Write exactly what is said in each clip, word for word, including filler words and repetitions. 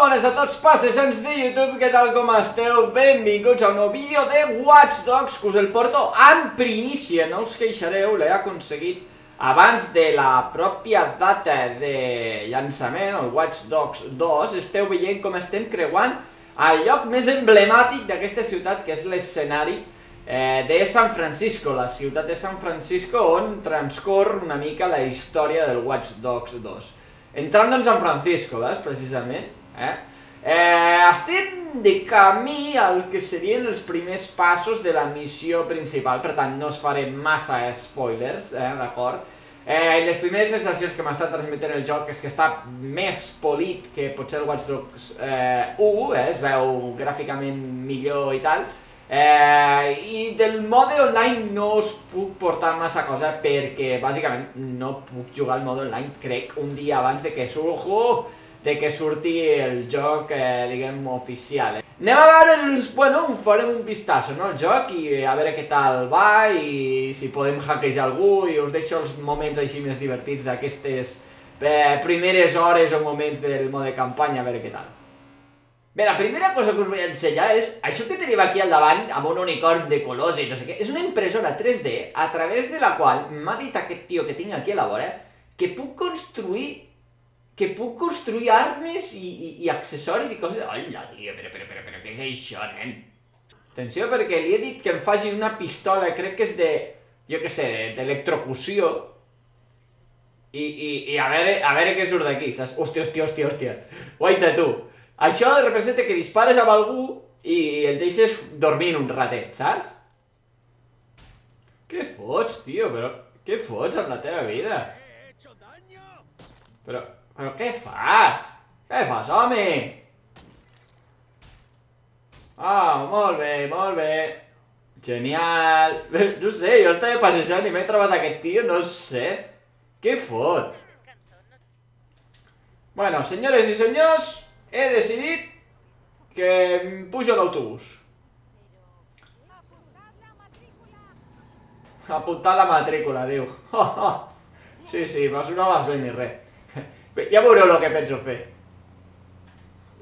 bones a tots passejants de YouTube, què tal com esteu? Benvinguts a un nou vídeo de Watch Dogs, que us el porto en primícia, no us queixareu, l'he aconseguit abans de la pròpia data de llançament, el Watch Dogs dos. Esteu veient com estem creuant el lloc més emblemàtic d'aquesta ciutat, que és l'escenari de San Francisco, la ciutat de San Francisco, on transcorre una mica la història del Watch Dogs dos. Entrant en San Francisco, veus, precisament, eh? Eh, estem de camí al que serien els primers passos de la missió principal, per tant no us faré massa spoilers, eh, d'acord? Eh, les primeres sensacions que m'ha estat transmetent el joc és que està més polit que potser el Watch Dogs eh, u, eh, es veu gràficament millor i tal. Eh, I del mode online no us puc portar massa cosa perquè bàsicament no puc jugar al mode online, crec, un dia abans de que, surjo, de que surti el joc, eh, diguem, oficial. Eh. Anem a veure, els, bueno, farem un vistazo, no, al joc i a veure què tal va i si podem hackejar algú, i us deixo els moments així més divertits d'aquestes eh, primeres hores o moments del mode campanya, a veure què tal. Bé, la primera cosa que us vull ensenyar és això que tenim aquí al davant, amb un unicorn de colors i no sé què. És una impressora tres D a través de la qual m'ha dit aquest tio que tinc aquí a la vora que puc construir que puc construir armes i, i, i accessoris i coses. Hola, tio, però, però, però, però, què és això, nen? Atenció, perquè li he dit que em faci una pistola, crec que és de, jo què sé, d'electrocució. I, i, i a veure, a veure què surt d'aquí, saps? Hòstia, hòstia, hòstia, hòstia. Guaita, tu. Això representa que dispares amb algú i el deixes dormint un ratet, saps? Què fots, tio? Però què fots amb la teva vida? Però, però què fas? Què fas, home? Ah, molt bé, molt bé. Genial. No sé, jo estava passejant i m'he trobat aquest tio, no sé. Què fot? Bueno, senyores i senyors, he decidit que em pujo a l'autobús. Apuntar la matrícula, diu. Sí, sí, però no vas bé ni res. Ja veureu el que penso fer.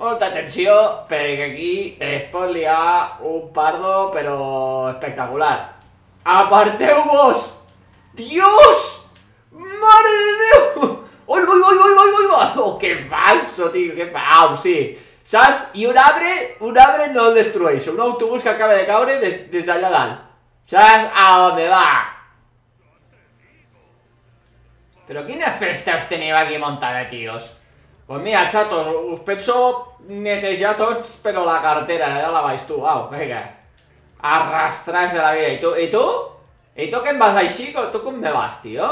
Molta atenció, perquè aquí es pot liar un pardo, però espectacular. Aparteu-vos! Dios! Mare de Déu! ¡Uy, uy, uy, uy, uy, uy! ¡Oh, qué falso, tío! ¡Qué falso! Sí. ¿Saps? I un arbre, un arbre no el destrueix. Un autobús que acaba de caure des, des d'allà dalt. Saps? A on va? Però quina festa us teniu aquí muntada, tios? Pues mira, chatos, us penso netejar tots, però la cartera, de dalt a baix, tu, au, vinga. Arrastrats de la vida. I tu? I tu? I tu que em vas així? Tu com me vas, tio?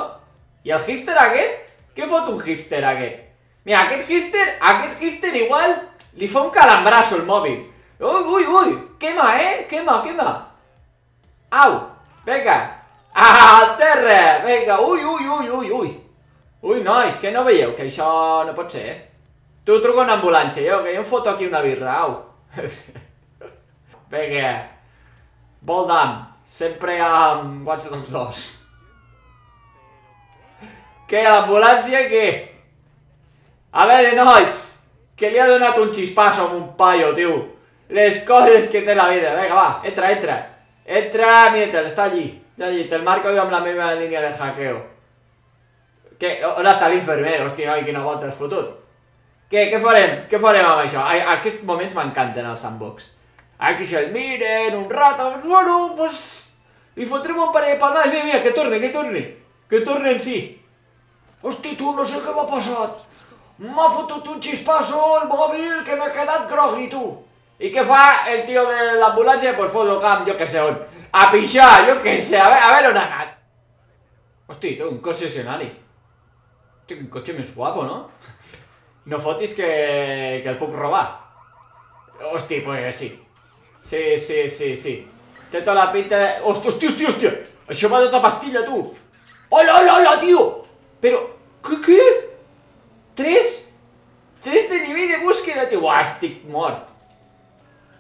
I el hipster aquest? Què fot un hipster aquest? Mira, aquest hipster, aquest hipster igual li fa un calambrazo el mòbil. Ui, ui, ui, quema, eh? Quema, quema. Au, vinga. Al terra, vinga, ui, ui, ui, ui, ui. Ui, nois, que no veieu que això no pot ser, eh? Tu truca una ambulància, jo, que jo em foto aquí una birra, au. Vinga. Voldam, sempre amb Watch Dogs dos. Què, l'ambulància, què? A veure, nois, que li ha donat un xispasso amb un paio, tio. Les coses que té la vida. Vinga, va, entra, entra. Entra, mira-te'l, està allí. Està allí, te'l marco jo amb la meva línia de hackeo. Què? On està l'infermer? Hòstia, noi, quina volta has fotut. Què, què farem? Què farem amb això? Aquests moments m'encanten al sandbox. Aquí se'l miren, un rato, bueno, pues... li fotrem un parell de palmades. Mira, mira, que torni, que torni. Que torni en si. Hosti, tu, no sé què m'ha passat. M'ha fotut un xispasso al mòbil que m'ha quedat grogui, tu. I què fa el tio de l'ambulància? Pues fot el camp, jo què sé on. A pixar, jo què sé, a veure, a veure on ha anat. Hosti, tu, un concessionari. Hosti, un cotxe més guapo, no? No fotis que, que el puc robar. Hosti, pues sí. Sí, sí, sí, sí. Té tota la pinta... Hosti, hosti, hosti, hosti. Això va tota pastilla, tu. Hola, hola, hola, tio. Però, què, què? Tres? Tres de nivell de búsqueda, tio. Uah, estic mort.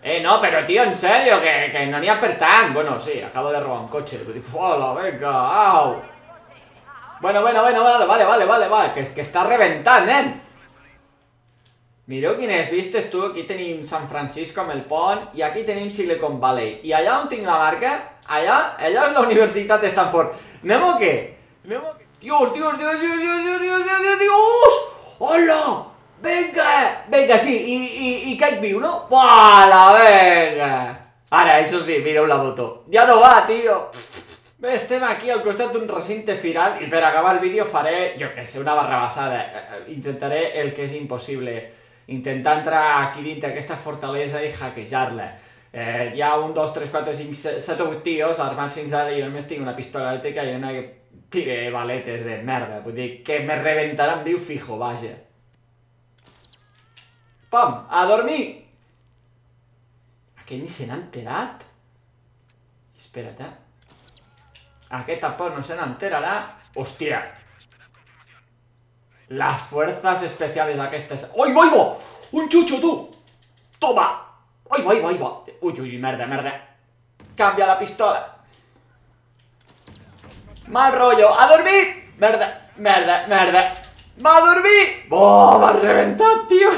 Eh, no, però, tio, en sèrio, que, que no n'hi ha per tant. Bueno, sí, acabo de robar un cotxe. Hola, venga, au. Bueno, bueno, bueno, vale, vale, vale, vale, vale. Que, que està reventant, nen. Mireu quines vistes, tu. Aquí tenim San Francisco amb el pont i aquí tenim Silicon Valley. I allà on tinc la marca, allà, allà és la Universitat de Stanford. Anem o què? Anem o què? Dios, Dios, Dios, Dios, Dios, Dios, Dios, Dios, Dios, Dios! Hola! Venga! Venga, sí, i, i, i caic viu, no? Hola, venga! Ara, això sí, mireu la moto. Ja no va, tio! Bé, estem aquí al costat d'un recinte firal i per acabar el vídeo faré, jo què sé, una barrabassada. Intentaré el que és impossible. Intentar entrar aquí dintre aquesta fortalesa i hackejar-la. Eh, hi ha un, dos, tres, quatre, cinc, set o vuit tios armats fins ara i jo només tinc una pistola elèctrica i una que tire baletes de merda. Vull dir que me reventaran viu fijo, vaja. Pam, a dormir! Aquest ni se n'ha enterat? Espera't, eh? Aquest tampoc no se n'enterarà. Hòstia! Las fuerzas especiales aquestes... Oi, oi, oi! Un xucho, tu! Toma! Oi, oi, oi, oi! Ui, ui, merda, merda! Canvia la pistola! Mal rollo! A dormir! Merda, merda, merda! Va a dormir! Oh, m'ha reventat, tio!